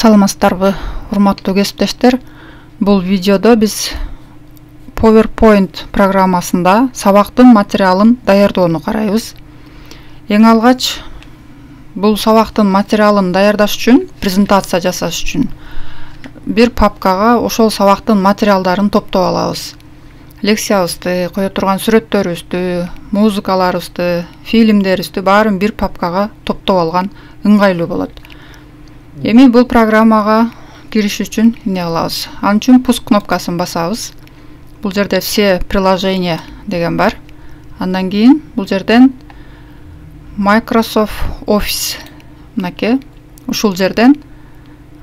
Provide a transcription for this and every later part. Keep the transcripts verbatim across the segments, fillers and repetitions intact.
Саламатсыздарбы, урматтуу кесиптештер. Бул видеодо биз PowerPoint программасында сабактын материалын даярдоону карайбыз. Эң алгач бул сабактын материалын даярдаш үчүн, презентация жасаш үчүн бир папкага ошол сабактын материалдарын топтоп алабыз. Лекциябызды, кое турган сүрөттөрүбүздү, музыкаларыбызды, фильмдерибизди баарын бир папкага топтоп алган ыңгайлуу болот. Эми бул программага кириш үчүн эмне кылабыз? Ал үчүн пуск кнопкасын басабыз. Бул жерде все приложения деген бар. Андан кийин бул жерден Microsoft Office мынакей ушул жерден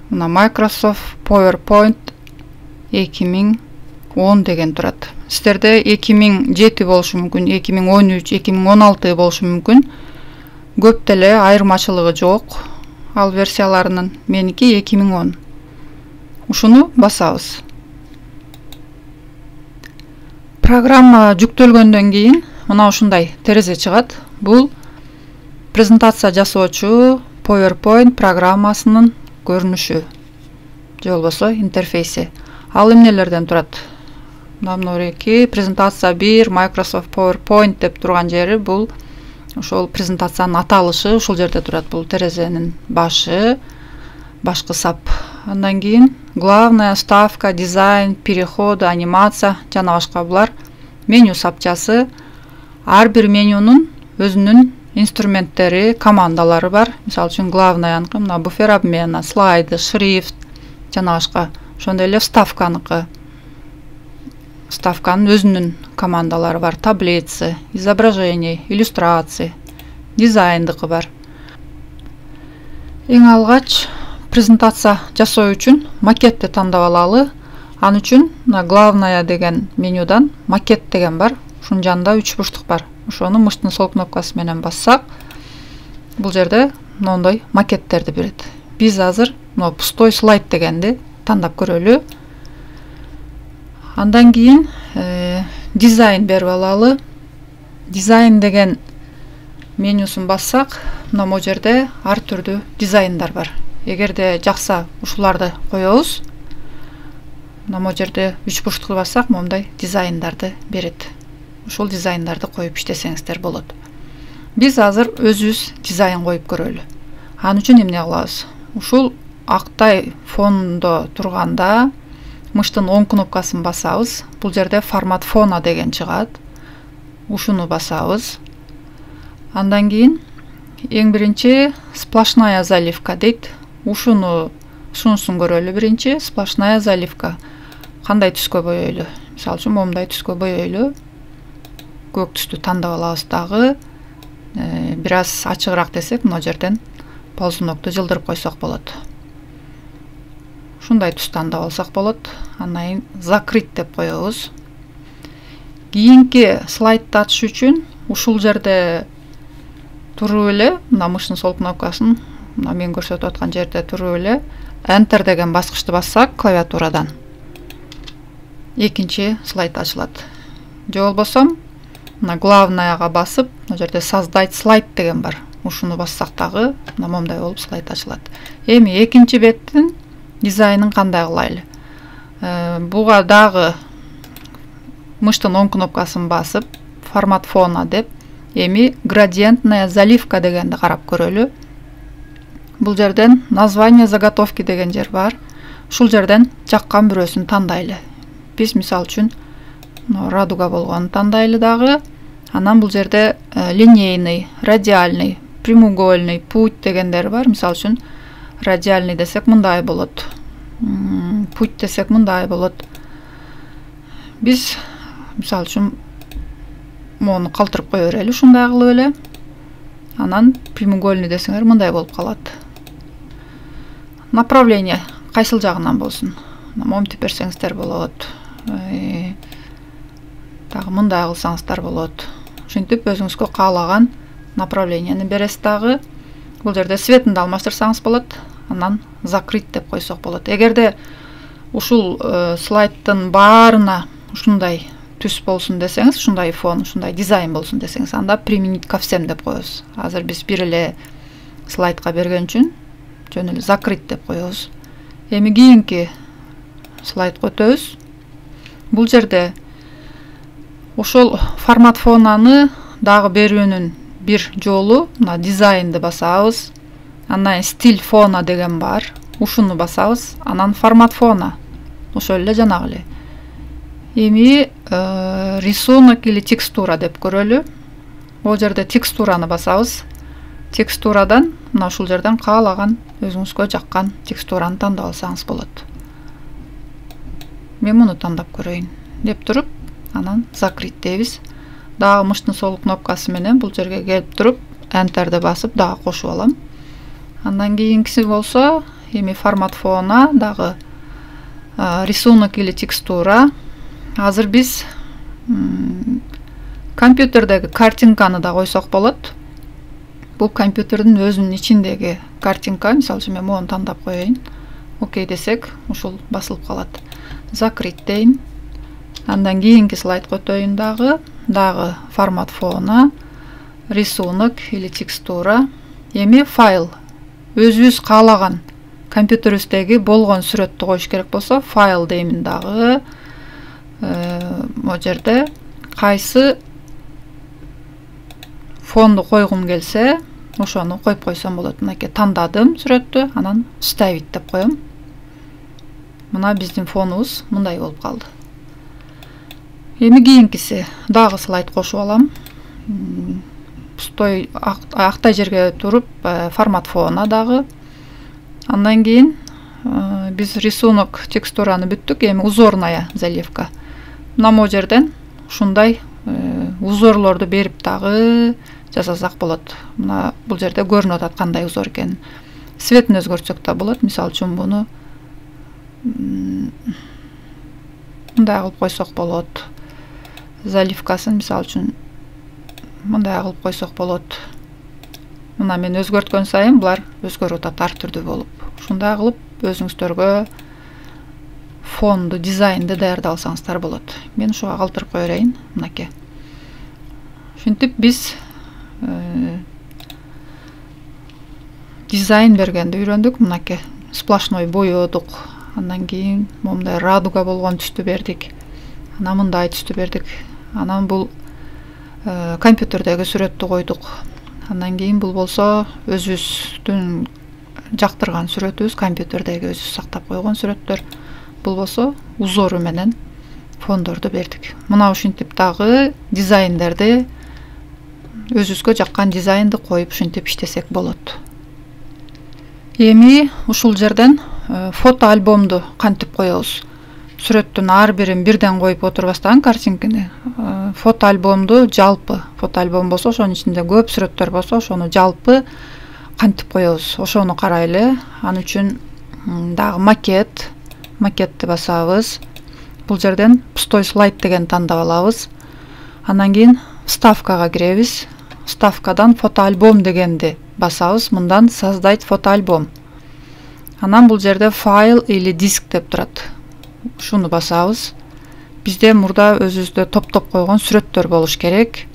мына Microsoft PowerPoint эки миң он деген турат. Сиздерде эки миң жети болушу мүмкүн, эки миң он үч, эки миң он алты болушу мүмкүн. Көп деле айырмачылыгы жок. Ал версияларынын меники эки миң он. Ушуну басабыз. Программа жүктөлгөндөн кийин мына ушундай терезе чыгат. Бул презентация жасоочу PowerPoint программасынын көрүнүшү же болбосо интерфейси. Ал эмнелерден турат? Мынабеки презентация бир Microsoft PowerPoint деп турган жери бул ошол презентациянын аталышы ушул жерде турат. Бул терезенин башы, башкы сап. Андан кийин главная, ставка, дизайн, переходы, анимация жана башка булар меню сапчасы. Ар бир менюнун өзүнүн инструменттери, командалары бар. Мисалы үчүн главнаяныкы мына буфер обмена, слайды, шрифт жана башка. Ошондой эле вставканыкы. Вставканын өзүнүн командалары бар. Таблицы, изображение, иллюстрации, дизайндыкы бар. Эң алгач презентация жасоо үчүн макетти тандап алалы. Ал үчүн мына главная деген менюдан макет деген бар. Ушунун жанында үч бурчтук бар. Ошону мыштын сол кнопкасы менен бассак, бул жерде мондой макеттерди берет. Биз азыр мына пустой слайд дегенди тандап көрөлү. Андан кийин э, дизайн берип алалы. Дизайн деген менюсун бассак, мына могу жерде ар түрдүү дизайндар бар. Эгерде жакса ушуларды коебуз, мына могу жерде үч бурчтукту бассак, моундай дизайндарды берет. Ушул дизайндарды коюп иштесеңиздер болот. Биз азыр өзүбүз дизайн коюп көрөлү. Анын үчүн эмне кылабыз? Ушул актай фондо турганда мыштын оң кнопкасын басабыз. Бул жерде формат фона деген чыгат. Ушуну басабыз. Андан кийин эң биринчи сплошная заливка дейт. Ушуну ушунусун көрөлү биринчи. Сплошная заливка. Кандай түскө боёйлу? Мисалы үчүн моундай түскө боёйлу. Көк түстү тандап алабыз дагы. Э, бир аз ачыгыраак десек, мына жерден ползунокту жылдырып койсок болот. Ушундай түс тандап алсак болот. Андан кийин закрыть деп коебуз. Кийинки слайдты ачыш үчүн ушул жерде туруп эле, мына мыштын сол кнопкасын, мына мен көрсөтүп аткан жерде туруп эле Enter деген баскычты бассак клавиатурадан экинчи слайд ачылат. Же болбосо мына главнаяга басып, мына жерде создать слайд деген бар. Ушуну бассак дагы мына момундай болуп слайд ачылат. Эми экинчи беттин дизайнын кандай кылайлы? Э, буга дагы мыштын оң кнопкасын басып, формат фона деп, эми градиентная заливка дегенди карап көрөлү. Бул жерден название заготовки деген жер бар. Ушул жерден жаккан бирөөсүн тандайлы. Биз мисалы үчүн радуга болгонун тандайлы дагы. Анан бул жерде э, линейный, радиальный, прямоугольный, путь дегендер бар. Мисалы үчүн радиальный десек мындай болот. Путь десек мындай болот. Биз мисалы үчүн мону калтырып кое берели, ушундай кылып эле. Анан прямоугольный десеңер мындай болуп калат. Направление кайсыл жагынан болсун? Моминтип берсеңиздер болот. Э, дагы мындай кылсаңыздар болот. Ушинтип өзүңүзгө каалаган направлениени бересиз дагы. Бул жерде цветин алмаштырсаңыз болот. Анан закрыть деп койсок болот. Эгерде ушул э, слайдтын баарына ушундай түс болсун десеңиз, ушундай фон, ушундай дизайн болсун десеңиз, анда применить ко всем деп коебуз. Азыр биз бир эле слайдка берген үчүн жөн эле закрыть деп коебуз. Эми кийинки слайдка өтөбүз. Бул жерде ошол формат фонаны дагы берүүнүн бир жолу мына дизайнды басабыз. Андан стиль фона деген бар. Ушуну басабыз. Анан формат фона. Ошол эле жанагы эле. Эми э, рисунок или текстура деп көрөлү. Бул жерде текстураны басабыз. Текстурадан мына ушул жерден каалаган өзүңүзгө жаккан текстураны тандап алсаңыз болот. Мен муну тандап көрөйүн деп туруп, анан закрыть дейбиз. Дагы мыштын сол кнопкасы менен бул жерге келип туруп, Enter'ди басып дагы кошуп алам. Андан кийинкиси болсо, эми формат фона дагы э, рисунок или текстура. Азыр биз компьютердеги картинканы да койсок болот. Бул компьютердин өзүнүн ичиндеги картинка, мисалы үчүн мен мону тандап коеюн. Окей десек, ушул басылып калат. Закрыть дейин. Андан кийинки слайдка өтөйүн дагы. Дагы формат фона, рисунок или текстура. Эми файл. Өзүбүз каалаган компьютерибиздеги болгон сүрөттү коюш керек болсо, файл деймин дагы. Могу жерде кайсы фонду койгум келсе, ошону коюп койсом болот. Мынакей тандадым сүрөттү, анан вставить деп коем. Мына биздин фонубуз мындай болуп калды. Эми кийинкиси дагы слайд кошуп алам. Пустой актай жерге туруп формат фона дагы. Андан кийин биз рисунок, текстураны бүттүк. Эми узорная заливка. Мына могу жерден ушундай узорлорду берип дагы жасасак болот. Мына бул жерде көрүнүп атат кандай узор экенин. Цветин өзгөртсөк да болот. Мисалы үчүн буну мындай кылып койсок болот. Заливкасын мисалы үчүн мындай кылып койсок болот. Мына мен өзгөрткөн сайын булар өзгөрүп атат ар түрдүү болуп. Ушундай кылып өзүңүздөргө фонду, дизайнды даярдап алсаңыздар болот. Мен ушуга калтырып кое берейин. Мынакей. Ушинтип биз э, дизайн бергенди үйрөндүк. Мынакей сплошной боёдук. Андан кийин момундай радуга болгон түстү бердик. Анан мындай түстү бердик. Анан бул э, компьютердеги сүрөттү койдук. Андан кийин бул болсо өзүбүздүн жактырган сүрөтүбүз, компьютердеги өзүбүз сактап койгон сүрөттөр. Бул болсо узору менен фондорду бердик. Мына ушинтип дагы дизайндерди, өзүбүзгө жаккан дизайнды коюп ушинтип иштесек болот. Эми ушул жерден э, фото альбомду кантип коебуз? Сүрөттүн ар бирин бирден коюп отурбастан картинканы, э, фото альбомду жалпы, фото альбом болсо ошонун ичинде көп сүрөттөр болсо ошону жалпы кантип коебуз? Ошону карайлы. Ал үчүн дагы макет, макетти басабыз. Бул жерден пустой слайд деген тандап алабыз. Андан кийин вставкага киребиз. Вставкадан фото альбом дегенди басабыз. Мындан создать фото альбом. Анан бул жерде файл или диск деп турат. Ушуну басабыз. Бизде мурда өзүбүздө топтоп койгон сүрөттөр болуш керек.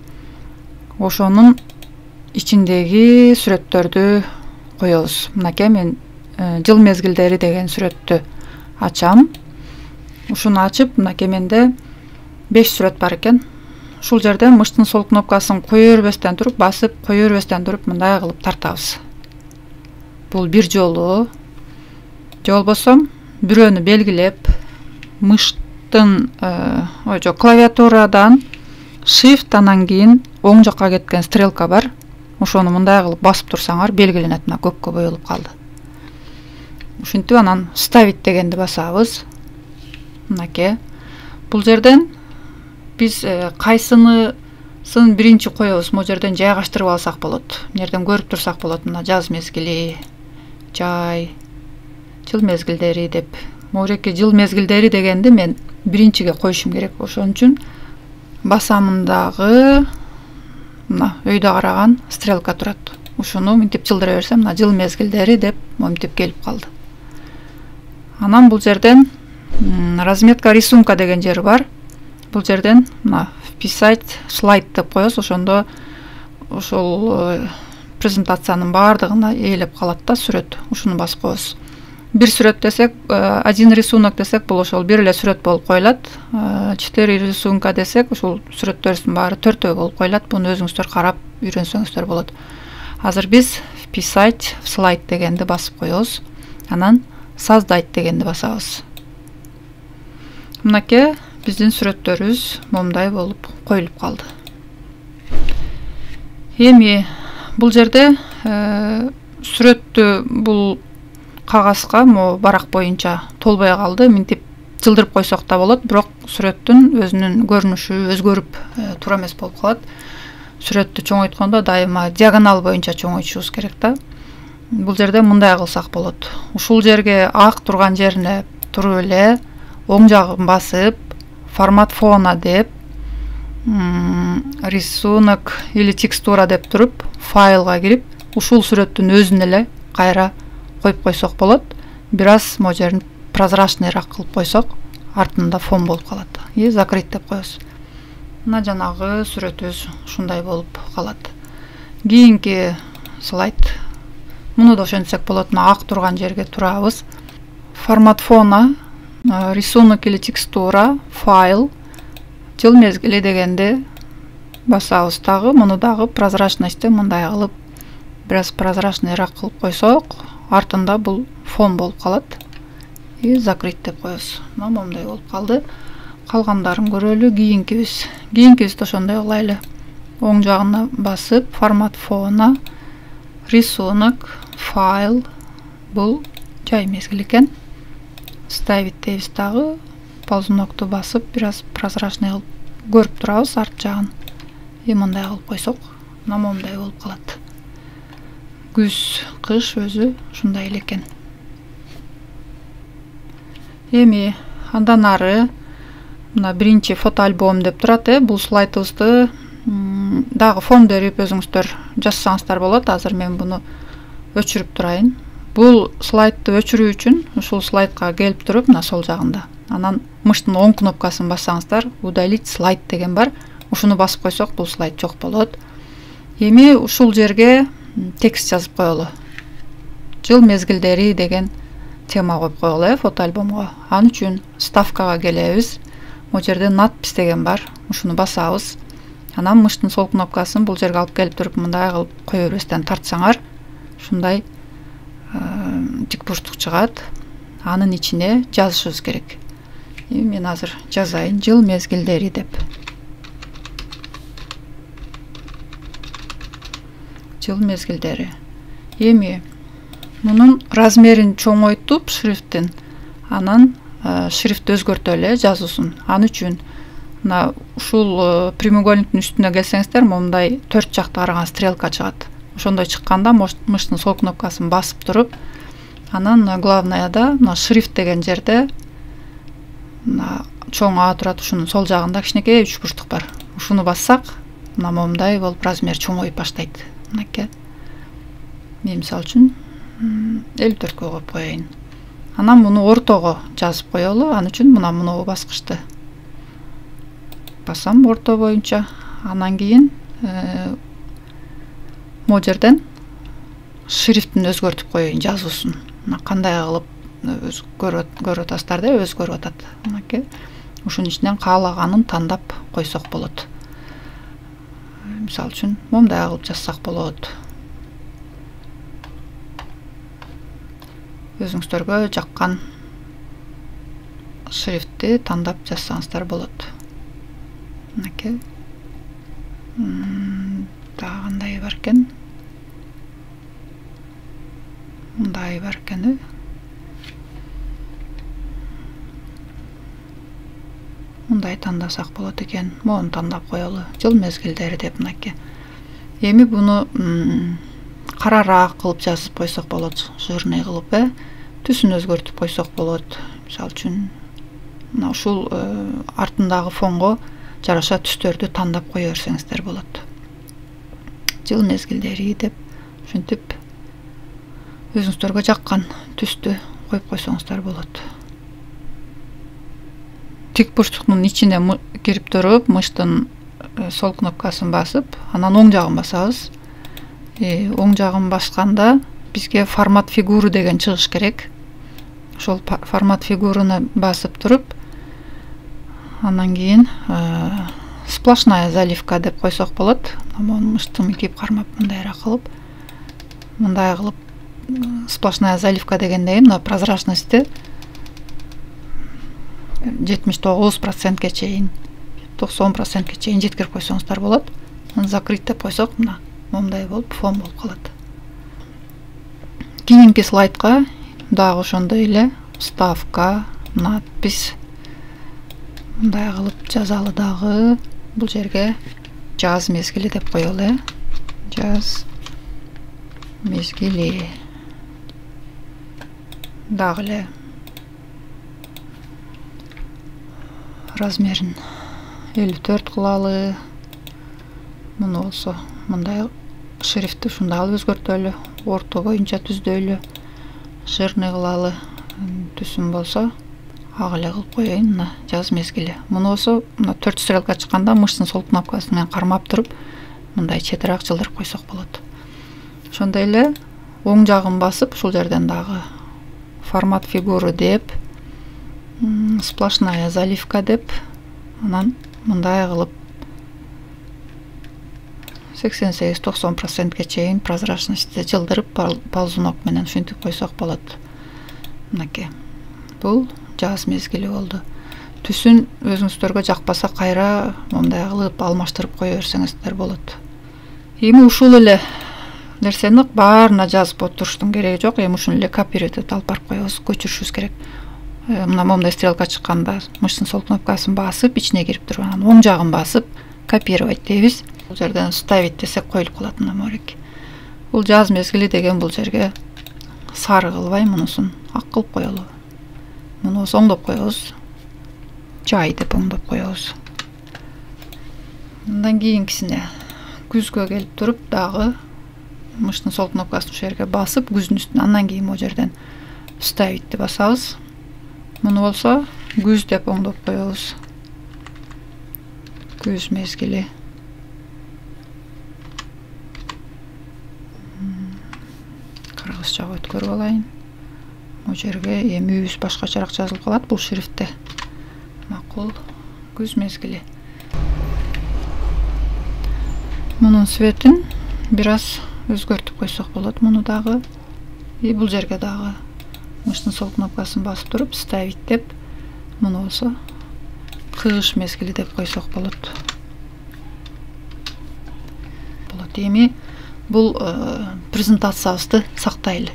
Ошонун ичиндеги сүрөттөрдү коебуз. Мынакей мен э, жыл мезгилдери деген сүрөттү ачам. Ушуну ачып, мынакей менде беш сүрөт бар экен. Ушул жерде мыштын сол кнопкасын кое бербестен туруп, басып, кое бербестен туруп мындай кылып тартабыз. Бул бир жолу. Же болбосо бирөөнү белгилеп, мыштын э, ой жок, клавиатурадан shift анан кийин оң жакка кеткен стрелка бар. Ошону мындай кылып басып турсаңар белгиленет. Мына көккө боелуп калды. Ушинтип анан вставить дегенди басабыз. Мынакей. Бул жерден биз э, кайсынысын биринчи коебуз, могу жерден жайгаштырып алсак болот. Нерден көрүп турсак болот. Мына жаз мезгили, жай, жыл мезгилдери деп. Могуреки жыл мезгилдери дегенди мен биринчиге коюшум керек. Ошон үчүн басамындагы мына өйдө караган стрелка турат. Ушуну мынтип жылдыра берсем, мына жыл мезгилдери деп мынтип келип калды. Анан бул жерден разметка рисунка деген жери бар. Бул жерден мына вписать слайд деп коебуз. Ошондо ошол презентациянын баардыгына ээлеп калат да сүрөт. Ушуну басып коебуз. бир сүрөт десек, один рисунок десек, бул ошол бир эле сүрөт болуп коюлат. четыре рисунка десек, ушул сүрөттөрдүн баары төртөө болуп коюлат. Буну өзүңүздөр карап үйрөнсөңүздөр болот. Азыр биз вписать в слайд дегенди басып коебуз. Анан создать дегенди басабыз. Мынакей биздин сүрөттөрүбүз момундай болуп коюлуп калды. Эми бул жерде сүрөттү бул кагазга могу барак боюнча толбой калды. Минтип жылдырып койсок да болот, бирок сүрөттүн өзүнүн көрүнүшү өзгөрүп туура эмес болуп калат. Сүрөттү чоңойткондо дайыма диагонал боюнча чоңойтушубуз керек да. Бул жерде мындай кылсак болот. Ушул жерге ак турган жерине туруп эле оң жагын басып, формат фона деп, рисунок или текстура деп туруп, файлга кирип, ушул сүрөттүн өзүн эле кайра коюп койсок болот. Бир аз могу жерин прозрачныйраак кылып койсок, артында фон болуп калат. И закрыть деп коебуз. Мына жанагы сүрөтүбүз ушундай болуп калат. Кийинки слайд. Муну да ошентсек болот. Мына ак турган жерге турабыз. Формат фона, рисунок или текстура, файл, жыл мезгили дегенди басабыз дагы. Муну дагы прозрачностьты мындай кылып, бир аз прозрачныйраак кылып койсок, артында бул фон болуп калат. И закрыть деп коебуз. Мына момундай болуп калды. Калгандарын көрөлү. Кийинкибиз. Кийинкибизди ошондой кылайлы. Оң жагына басып, формат фона, рисунок, файл, бул жай мезгил экен. Ставить дейбиз дагы. Ползунокту басып, бир аз прозрачный кылып көрүп турабыз арт жагын. И мындай кылып койсок, мына момундай болуп калат. Күз, кыш өзү ушундай эле экен. Эми андан ары мына биринчи фото альбом деп турат, э. Бул слайдыбызды дагы фон берип өзүңүздөр жазсаңыздар болот. Азыр мен буну өчүрүп турайын. Бул слайдты өчүрүү үчүн ушул слайдка келип туруп, мына сол жагында. Анан мыштын оң кнопкасын бассаңыздар, удалить слайд деген бар. Ушуну басып койсок, бул слайд жок болот. Эми ушул жерге текст жазып коелу. Жыл мезгилдери деген тема коюп коелу, э, фото альбомго. Ал үчүн ставкага келебиз. Могу жерде надпись деген бар. Ушуну басабыз. Анан мыштын сол кнопкасын бул жерге алып келип туруп, мындай кылып кое бербестен тартсаңар, ушундай тик бурчтук чыгат. Анын ичине жазышыбыз керек. И мен азыр жазайын, жыл мезгилдери деп. Жыл мезгилдери. Эми мунун размерин чоңойтуп, шрифтин, анан шрифтти өзгөртөлү, жазуусун. Ал үчүн мына ушул прямоугольниктин үстүнө келсеңиздер, момундай төрт жакты караган стрелка чыгат. Ошондой чыкканда мыштын сол кнопкасын басып туруп, анан главныйда мына шрифт деген жерде мына чоң А турат, ушунун сол жагында кичинекей үч бурчтук бар. Ушуну бассак, мына момундай болуп размер чоңоюп баштайт. Мынакей. Мен мисалы үчүн элүү төрткө коюп коеюн. Анан муну ортого жазып коелу. Ал үчүн мына муну баскычты басам орто боюнча. Анан кийин могу жерден шрифтин өзгөртүп коеюн, жазуусун. Мына кандай кылып көрүп атасыздар да, өзгөрүп атат. Мынакей. Ушунун ичинен каалаганын тандап койсок болот. Мисалы үчүн момундай кылып жазсак болот. Өзүңүздөргө жаккан шрифтти тандап жазсаңыздар болот. Мынакей. Дагы кандай бар экен? Мындай бар экен. Мындай тандасак болот экен. Мону тандап коелу. Жыл мезгилдери деп мынакей. Эми буну карараак кылып жазып койсок болот, жирный кылып, э. Түсүн өзгөртүп койсок болот. Мисалы үчүн мына ушул артындагы фонго жараша түстөрдү тандап кое берсеңиздер болот. Жыл мезгилдери деп ушинтип өзүңүздөргө жаккан түстү коюп койсоңуздар болот. Тик бурчтуктун ичине кирип туруп, мыштын сол кнопкасын басып, анан оң жагын басабыз. Оң жагын басканда бизге формат фигуры деген чыгыш керек. ошол формат фигураны басып туруп, андан кийин сплошная заливка деп койсок болот. Мону мыштым кийип кармап мындайраак кылып, мындай кылып сплошная заливка дегенде мына прозрачности жетимиш тогуз процентке чейин, токсон процентке чейин жеткирип койсоңуздар болот. Закрыть деп койсок, мына момундай болуп фон болуп калат. Кийинки слайдка дагы ошондой эле вставка, надпись мындай кылып жазалы дагы. Бул жерге жаз мезгили деп коелу, э? Жаз мезгили. Дагы эле размерин элүү төрт кылалы. Муну болсо мындай шрифти ушундай кылып өзгөртөлү, орто боюнча түздөйлү, жирный кылалы. Түсүн болсо ак эле кылып коеюн. Мына жаз мезгили. Муну болсо мына төрт стрелка чыкканда мыштын сол кнопкасы менен кармап туруп, мындай четирээк жылдырып койсок болот. Ошондой эле оң жагын басып, ушул жерден дагы формат фигуры деп, сплошная заливка деп, анан мындай кылып сексен сегиз токсон процентке чейин прозрачностьти жылдырып ползунок менен ушинтип койсок болот. Мынакей. Бул жаз мезгили болду. Түсүн өзүңүздөргө жакпаса кайра мындай кылып алмаштырып кое берсеңиздер болот. Эми ушул эле нерсени баарына жазып отуруштун кереги жок. Эми ушуну эле копировать этип алып барып коебуз, көчүрүшүбүз керек. Мына момундай стрелка чыкканда мыштын сол кнопкасын басып, ичине кирип туруп, анан оң жагын басып, копировать дейбиз. Бул жерден вставить десек коюлуп калат мына морек. Бул жаз мезгили деген бул жерге сары кылбай мунусун ак кылып коелу. Муну оңдоп коебуз. Жай деп оңдоп коебуз. Андан кийинкисине күзгө келип туруп дагы мыштын сол кнопкасын ушул жерге басып, күздүн үстүнө, андан кийин могу жерден вставить басабыз. Муну болсо күз деп оңдоп коебуз. Күз мезгили. Кыргызчага өткөрүп алайын. Могу жерге эми үйүбүз башкачараак жазылып калат бул шрифтте. Макул. Күз мезгили. Мунун светин бир аз өзгөртүп койсок болот. Муну дагы и бул жерге дагы мыштын сол кнопкасын басып туруп вставить деп, муну болсо кыш мезгили деп койсок болот. Болот. Эми бул презентациябызды сактайлы.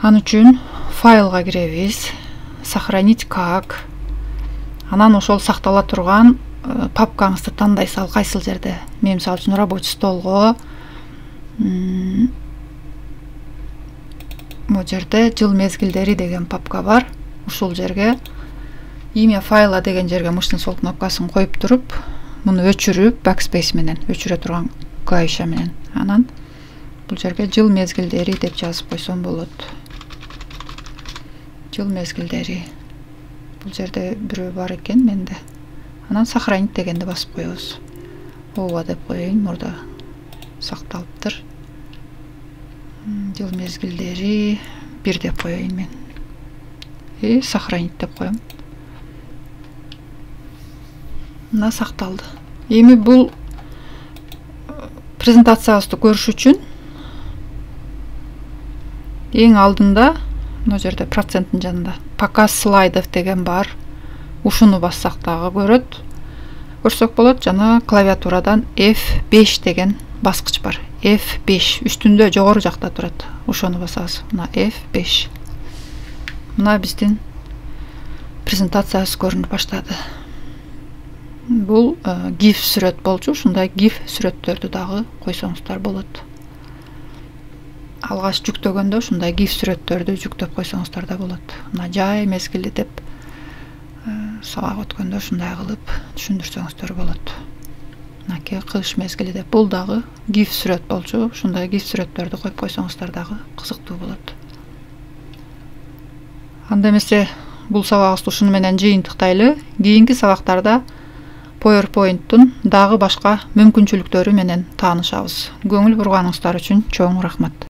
Ан үчүн файлга киребиз, сохранить как. Анан ошол сактала турган папкаңызды тандайсыз, ал кайсыл жерде. Мен мисалы үчүн рабочий столго могу жерде жыл мезгилдери деген папка бар. Ушул жерге имя файла деген жерге мыштын сол кнопкасын коюп туруп, муну өчүрүп, backspace менен өчүрө турган клавиша менен, анан бул жерге жыл мезгилдери деп жазып койсом болот. Жыл мезгилдери. Бул жерде бирөө бар экен менде. Анан сохранить дегенди басып коебуз. Ооба деп коеюн, мурда сакталыптыр. Жыл мезгилдери бир деп коеюн мен. И сохранить деп коем. Мына сакталды. Эми бул презентациябызды көрүш үчүн эң алдында мына жерде проценттин жанында показ слайдов деген бар. Ушуну бассак дагы көрөт. Көрсөк болот, жана клавиатурадан эф беш деген баскыч бар. эф беш үстүндө жогору жакта турат. Ошону басабыз. Мына эф беш. Мына биздин презентациябыз көрүнүп баштады. Бул гиф сүрөт болчу. Ушундай гиф сүрөттөрдү дагы койсоңуздар болот. Алгач жүктөгөндө ушундай гиф сүрөттөрдү жүктөп койсоңуздар да болот. Мына жай мезгили деп сабак өткөндө ушундай кылып түшүндүрсөңүздөр болот. Мынакей кыш мезгили деп бул дагы гиф сүрөт болчу. Ушундай гиф сүрөттөрдү коюп койсоңуздар дагы кызыктуу болот. Анда эмесе бул сабагыбызды ушуну менен жыйынтыктайлы. Кийинки сабактарда PowerPoint'тун дагы башка мүмкүнчүлүктөрү менен таанышабыз. Көңүл бурганыңыздар үчүн чоң рахмат.